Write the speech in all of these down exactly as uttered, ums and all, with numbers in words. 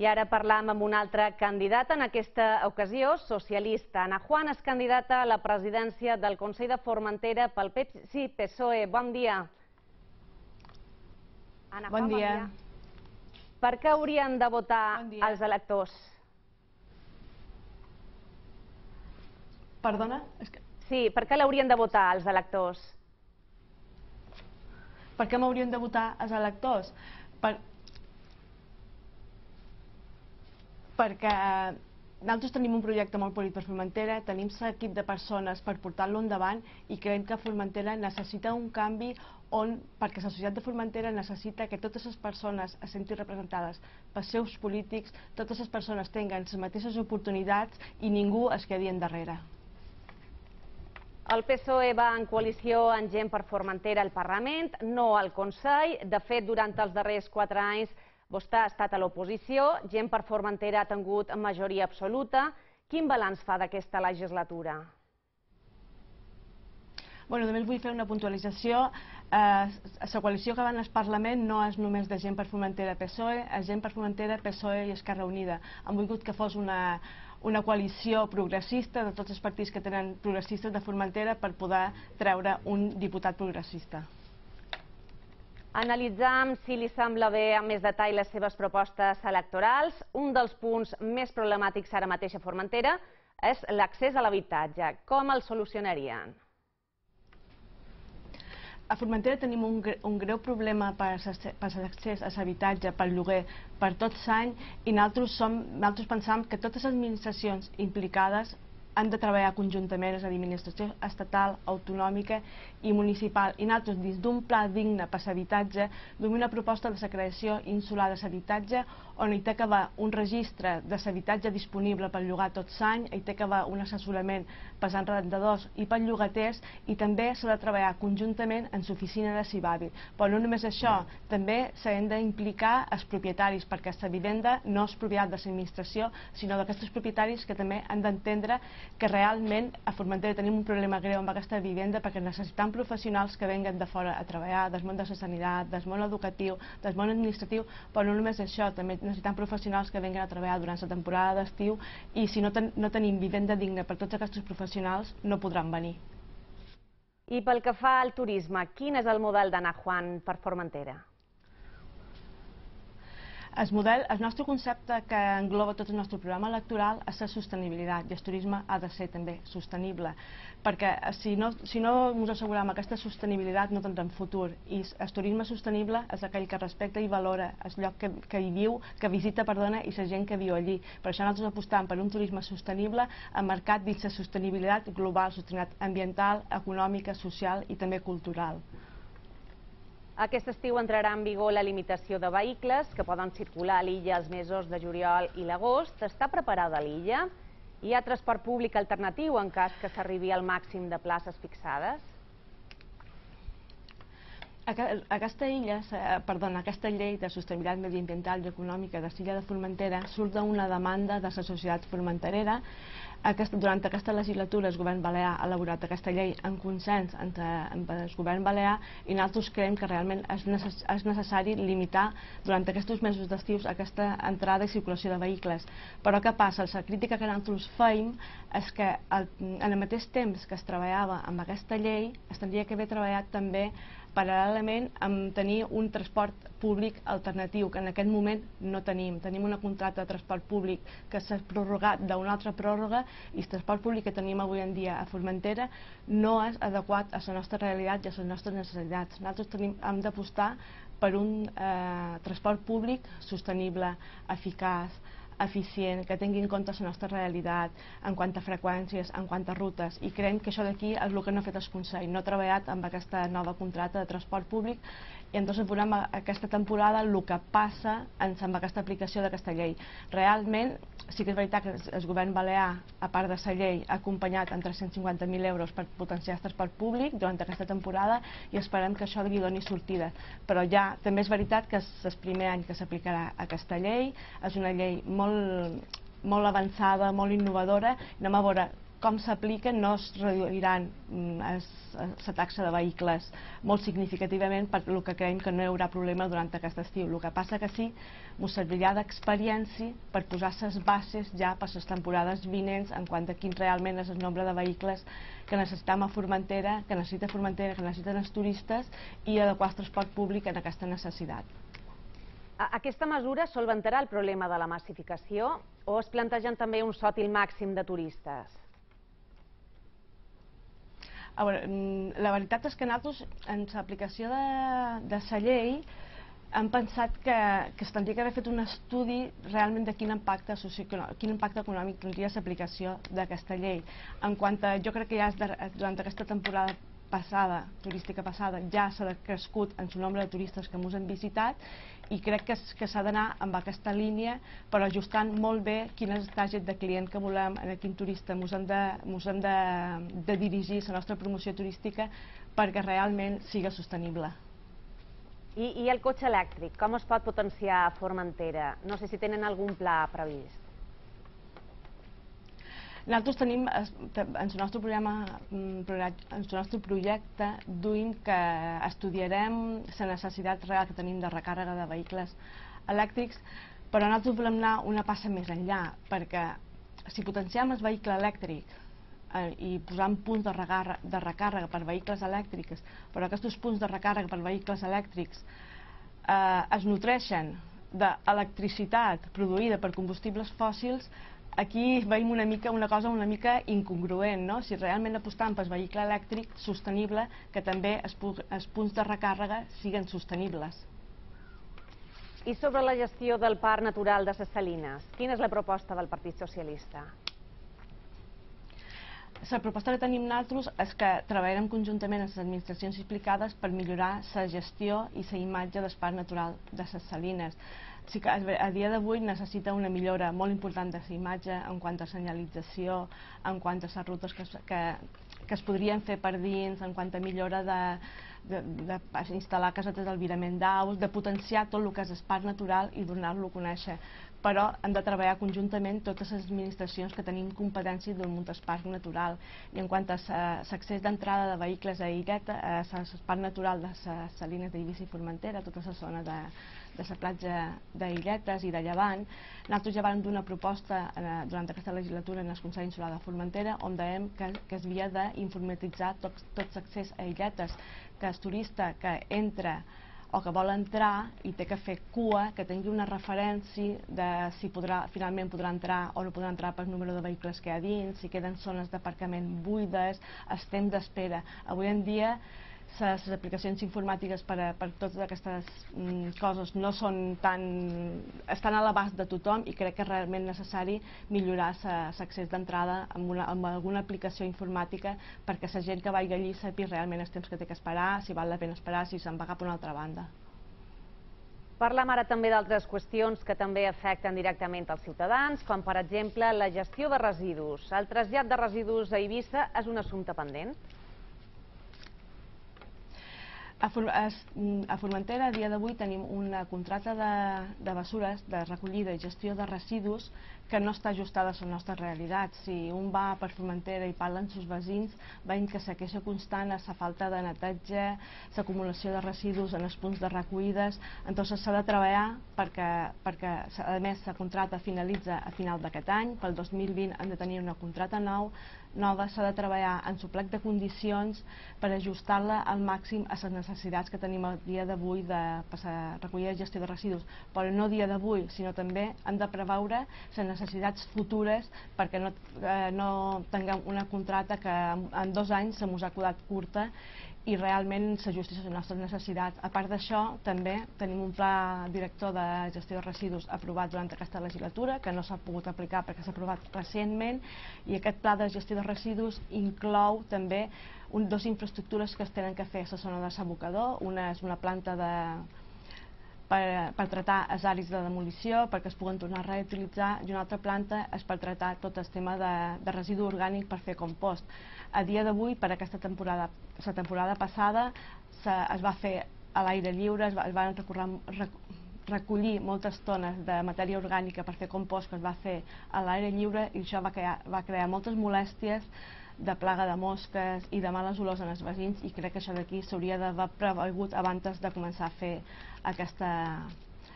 I ara parlam amb una altra candidata, en aquesta ocasió socialista. Ana Juan és candidata a la presidència del Consell de Formentera pel P S I P S O E. Bon dia. Ana Juan, bon dia. Per què haurien de votar els electors? Perdona? Sí, per què l'haurien de votar els electors? Per què m'haurien de votar els electors? Perquè nosaltres tenim un projecte molt polit per Formentera, tenim l'equip de persones per portar-lo endavant i creiem que Formentera necessita un canvi on, perquè la societat de Formentera necessita que totes les persones es sentin representades pels seus polítics, totes les persones tinguen les mateixes oportunitats i ningú es quedi endarrere. El P S O E va en coalició amb Gent per Formentera al Parlament, no al Consell. De fet, durant els darrers quatre anys vostè ha estat a l'oposició, Gent per Formentera ha tingut majoria absoluta. Quin balanç fa d'aquesta legislatura? Bueno, només vull fer una puntualització. La coalició que va al Parlament no és només de Gent per Formentera P S O E, és Gent per Formentera, P S O E i Esquerra Unida. Han volgut que fos una una coalició progressista de tots els partits que tenen progressistes de Formentera per poder treure un diputat progressista. Analitzam, si li sembla bé, amb més detall les seves propostes electorals. Un dels punts més problemàtics ara mateix a Formentera és l'accés a l'habitatge. Com el solucionarien? A Formentera tenim un greu problema per l'accés a l'habitatge, pel lloguer, per tot l'any, i nosaltres pensam que totes les administracions implicades han de treballar conjuntament, és a dir, administració estatal, autonòmica i municipal. I nosaltres, dins d'un pla digne per l'habitatge, duem una proposta de la creació insular de l'habitatge, on hi té que haver un registre de l'habitatge disponible per llogar tot l'any, hi té que haver un assessorament per als arrendadors i per llogaters, i també s'ha de treballar conjuntament en l'oficina de Cibavi. Però no només això, també s'han d'implicar els propietaris, perquè la vivenda no és propietat de l'administració, sinó d'aquests propietaris que també han d'entendre que realment a Formentera tenim un problema greu amb aquesta vivenda, perquè necessitem professionals que venguen de fora a treballar, del món de la sanitat, del món educatiu, del món administratiu, però no només això, també necessitem professionals que venguen a treballar durant la temporada d'estiu, i si no tenim vivenda digna per tots aquests professionals no podran venir. I pel que fa al turisme, quin és el model d'Ana Juan per Formentera? El model, el nostre concepte que engloba tot el nostre programa electoral és la sostenibilitat, i el turisme ha de ser també sostenible, perquè si no ens assegurem aquesta sostenibilitat no tindrem futur, i el turisme sostenible és aquell que respecta i valora el lloc que hi viu, que visita, perdona, i la gent que viu allí. Per això nosaltres apostam per un turisme sostenible emmarcat dins la sostenibilitat global, sostenibilitat ambiental, econòmica, social i també cultural. Aquest estiu entrarà en vigor la limitació de vehicles que poden circular a l'illa els mesos de juliol i l'agost. Està preparada l'illa? Hi ha transport públic alternatiu en cas que s'arribi al màxim de places fixades? Aquesta illa, perdona, aquesta llei de sostenibilitat mediambiental i econòmica de l'illa de Formentera surt d'una demanda de la societat formenterera. Durant aquesta legislatura el govern balear ha elaborat aquesta llei en consens amb el govern balear, i nosaltres creiem que realment és necessari limitar durant aquests mesos d'estius aquesta entrada i circulació de vehicles. Però què passa? La crítica que nosaltres feim és que en el mateix temps que es treballava amb aquesta llei es tindria que haver treballat també paral·lelament amb tenir un transport públic alternatiu, que en aquest moment no tenim. Tenim una contracte de transport públic que s'ha prorrogat d'una altra pròrroga, i el transport públic que tenim avui en dia a Formentera no és adequat a la nostra realitat i a les nostres necessitats. Nosaltres hem d'apostar per un transport públic sostenible, eficaç, eficient, que tingui en compte la nostra realitat en quant a freqüències, en quant a rutes, i creiem que això d'aquí és el que no ha fet el Consell, no ha treballat amb aquesta nova contracte de transport públic, i entonces veurem aquesta temporada el que passa amb aquesta aplicació d'aquesta llei. Realment sí que és veritat que el govern balear, a part de la llei, ha acompanyat amb tres-cents cinquanta mil euros per potenciar el transport públic durant aquesta temporada, i esperem que això li doni sortida. Però ja també és veritat que és el primer any que s'aplicarà aquesta llei, és una llei molt molt avançada, molt innovadora, anem a veure com s'apliquen no es reduiran la taxa de vehicles molt significativament, per el que creiem que no hi haurà problema durant aquest estiu. El que passa que sí, ens servirà d'experiència per posar les bases ja per les temporades vinents en quant a quin realment és el nombre de vehicles que necessitem a Formentera, que necessita Formentera, que necessiten els turistes, i adequar el transport públic en aquesta necessitat. Aquesta mesura solventarà el problema de la massificació o es plantegen també un sòtil màxim de turistes? A veure, la veritat és que nosaltres, en l'aplicació de la llei, hem pensat que, que es tindria que haver fet un estudi realment de quin impacte, quin impacte econòmic tindria l'aplicació d'aquesta llei. En quant a, jo crec que ja durant aquesta temporada passada, turística passada, ja s'ha crescut en el nombre de turistes que ens han visitat, i crec que, que s'ha d'anar amb aquesta línia, però ajustant molt bé quin és el target de client que volem, a quin turista ens hem de, hem de, de dirigir la nostra promoció turística perquè realment sigui sostenible. I, I el cotxe elèctric, com es pot potenciar a Formentera? No sé si tenen algun pla previst. Nosaltres tenim, en el nostre programa, en el nostre projecte, duim que estudiarem la necessitat real que tenim de recàrrega de vehicles elèctrics, però nosaltres volem anar una passa més enllà, perquè si potenciem el vehicle elèctric i posant punts de recàrrega per vehicles elèctrics, però aquests punts de recàrrega per vehicles elèctrics es nutreixen d'electricitat produïda per combustibles fòssils, aquí veiem una mica una cosa una mica incongruent, no? Si realment apostam pel vehicle elèctric sostenible, que també els punts de recàrrega siguin sostenibles. I sobre la gestió del Parc Natural de les Salines, quina és la proposta del Partit Socialista? La proposta que tenim nosaltres és que treballarem conjuntament amb les administracions implicades per millorar la gestió i la imatge del Parc Natural de les Salines. Sí que a dia d'avui necessita una millora molt important de la imatge en quant a senyalització, en quant a les rutes que, que, que es podrien fer per dins, en quant a millora d'instal·lar casetes d'albirament d'aus, de potenciar tot el que és el parc natural i donar-lo a conèixer. Però hem de treballar conjuntament totes les administracions que tenim competències del munt del parc natural. I en quant a l'accés d'entrada de vehicles a Illeta, al parc natural de les Salines d'Eivissa i Formentera, tota la zona de de la platja d'Illetes i de Llevant, nosaltres ja vam donar una proposta durant aquesta legislatura en el Consell Insular de Formentera on dèiem que, que es havia d'informatitzar tots tot l'accés a Illetes, que el turista que entra o que vol entrar i té que fer cua, que tingui una referència de si podrà, finalment podrà entrar o no podrà entrar pel número de vehicles que hi ha dins, si queden zones d'aparcament buides, el temps d'espera. Avui en dia les aplicacions informàtiques per a, per totes aquestes mm, coses no són tan, estan a l'abast de tothom, i crec que és realment necessari millorar l'accés d'entrada amb, una, amb alguna aplicació informàtica perquè la gent que vagi allí sàpiga realment els temps que té que esperar, si val la pena esperar, si se'n va cap a una altra banda. Parlem ara també d'altres qüestions que també afecten directament els ciutadans, com per exemple la gestió de residus. El trasllat de residus a Eivissa és un assumpte pendent? A Formentera, a dia d'avui, tenim una contracta de, de bessures, de recollida i gestió de residus que no està ajustada a la nostra realitat. Si un va per Formentera i parla amb els veïns, veiem que la queixa constant és la falta de neteja, l'acumulació de residus en els punts de recollides. Entonces s'ha de treballar perquè, perquè a més la contracta finalitza a final d'aquest any, pel dos mil vint hem de tenir una contracta nou, nova, s'ha de treballar en su plec de condicions per ajustar-la al màxim a les necessitats que tenim el dia d'avui de passar recollida i gestió de residus, però no dia d'avui, sinó també hem de preveure les necessitats futures perquè no, eh, no tinguem una contracta que en dos anys se mos ha quedat curta i realment s'ajusti a les nostres necessitats. A part d'això, també tenim un pla director de gestió de residus aprovat durant aquesta legislatura, que no s'ha pogut aplicar perquè s'ha aprovat recentment, i aquest pla de gestió de residus inclou també un, dos infraestructures que es tenen que fer a la zona de s'abocador. Una és una planta de, per, per tratar els àrids de demolició perquè es puguen tornar a reutilitzar, i una altra planta és per tratar tot el tema de, de residu orgànic per fer compost. A dia d'avui, per aquesta temporada, la temporada passada, se, es va fer a l'aire lliure, es, va, es van recórrer, rec, recollir moltes tones de matèria orgànica per fer compost que es va fer a l'aire lliure, i això va crear, va crear moltes molèsties de plaga de mosques i de males olors en els veïns, i crec que això d'aquí s'hauria d'haver previngut abans de començar a fer aquesta,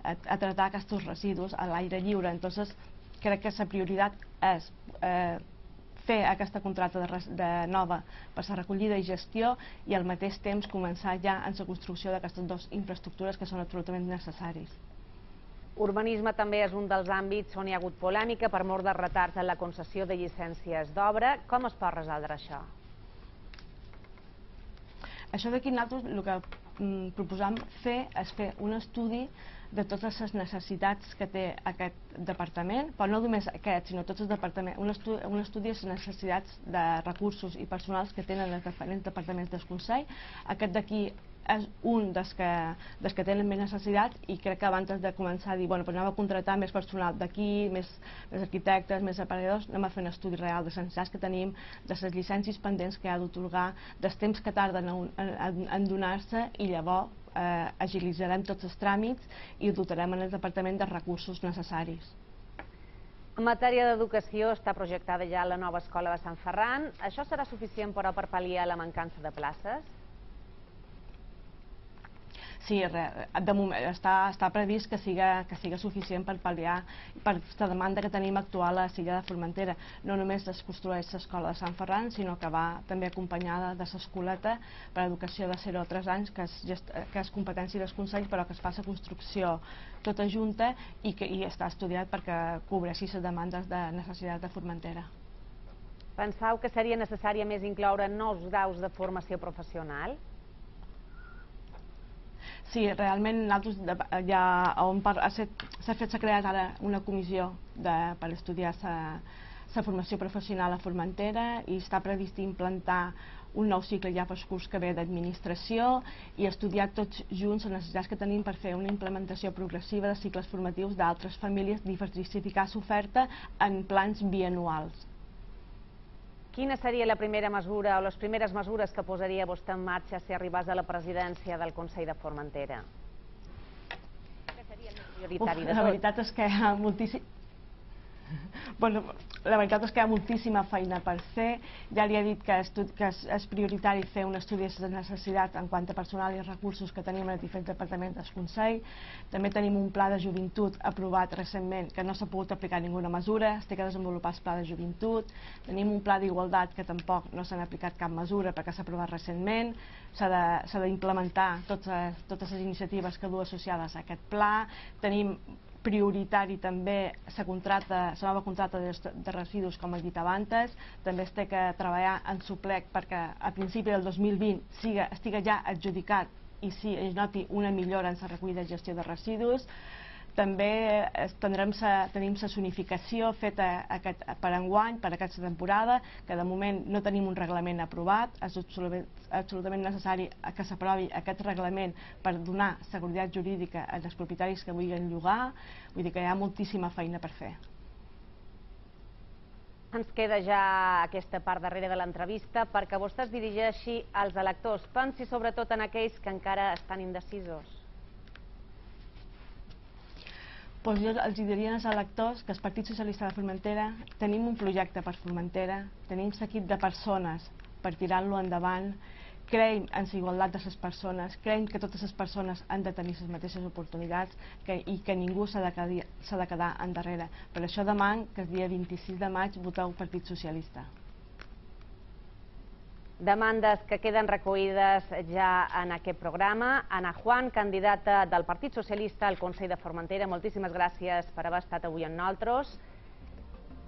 a, a tratar aquests residus a l'aire lliure. Entonces crec que la prioritat és eh, fer aquesta contracta de, de nova per la recollida i gestió, i al mateix temps començar ja en la construcció d'aquestes dues infraestructures que són absolutament necessaris. Urbanisme també és un dels àmbits on hi ha hagut polèmica per mor de retards en la concessió de llicències d'obra. Com es pot resoldre això? Això d'aquí nosaltres el que mm, proposam fer és fer un estudi de totes les necessitats que té aquest departament, però no només aquest, sinó tots els departaments, un estudi, un estudi de les necessitats de recursos i personals que tenen els diferents departaments del Consell. Aquest d'aquí és un dels que, dels que tenen més necessitats, i crec que abans de començar a dir, bueno, pues anem a contractar més personal d'aquí, més, més arquitectes, més aparelladors, anem a fer un estudi real de les necessitats que tenim, de les llicències pendents que ha d'otorgar, dels temps que tarden en, en, en donar-se, i llavors eh, agilitzarem tots els tràmits i dotarem en el departament dels recursos necessaris. En matèria d'educació està projectada ja la nova escola de Sant Ferran. Això serà suficient, però, per pal·liar la mancança de places? Sí, de moment està, està previst que siga, que siga suficient per pal·liar per la demanda que tenim actual a l'illa de Formentera. No només es construeix l'escola de Sant Ferran, sinó que va també acompanyada de l'escoleta per a educació de zero a tres anys, que és, gest, que és competència del Consell, però que es fa la construcció tota junta, i que i està estudiat perquè cobreixi les demandes de necessitat de Formentera. Penseu que seria necessari més incloure nous graus de formació professional? Sí, realment nosaltres ja on s'ha fet, s'ha creat ara una comissió de, per estudiar la formació professional a Formentera, i està previst implantar un nou cicle ja per al curs que ve d'administració, i estudiar tots junts les necessitats que tenim per fer una implementació progressiva de cicles formatius d'altres famílies, diversificar l'oferta en plans bianuals. Quina seria la primera mesura o les primeres mesures que posaria vostè en marxa si arribés a la presidència del Consell de Formentera? Què seria el més prioritari de tot? La veritat és que hi ha moltíssim... Bueno, la veritat és que hi ha moltíssima feina per fer. Ja li he dit que, que és, és prioritari fer un estudi de les necessitats en quant a personal i recursos que tenim en els diferents departaments del Consell. També tenim un pla de joventut aprovat recentment que no s'ha pogut aplicar ninguna mesura, es té que desenvolupar el pla de joventut. Tenim un pla d'igualtat que tampoc no s'han aplicat cap mesura perquè s'ha aprovat recentment. S'ha d'implementar totes, totes les iniciatives que du associades a aquest pla. Tenim prioritari també la contracta, la nova contracta de, de residus, com he dit abans. També es té que treballar en suplec perquè a principi del dos mil vint siga, estigui ja adjudicat i si es noti una millora en la recollida i gestió de residus. També tindrem sa, tenim la zonificació feta aquest, per enguany, per aquesta temporada, que de moment no tenim un reglament aprovat. És absolutament, absolutament necessari que s'aprovi aquest reglament per donar seguretat jurídica als propietaris que vulguin llogar. Vull dir que hi ha moltíssima feina per fer. Ens queda ja aquesta part darrere de l'entrevista perquè vostè es dirigeixi als electors. Pensi sobretot en aquells que encara estan indecisos. Doncs jo els diria als electors que el Partit Socialista de Formentera tenim un projecte per Formentera, tenim l'equip de persones per tirar-lo endavant, creiem en la igualtat de les persones, creiem que totes les persones han de tenir les mateixes oportunitats que, i que ningú s'ha de, de quedar endarrere. Per això deman que el dia vint-i-sis de maig voteu Partit Socialista. Demandes que queden recollides ja en aquest programa. Ana Juan, candidata del Partit Socialista al Consell de Formentera, moltíssimes gràcies per haver estat avui amb nosaltres.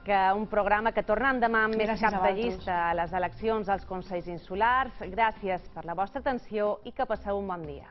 Que un programa que torna demà amb més cap de llista a les eleccions als Consells Insulars. Gràcies per la vostra atenció i que passeu un bon dia.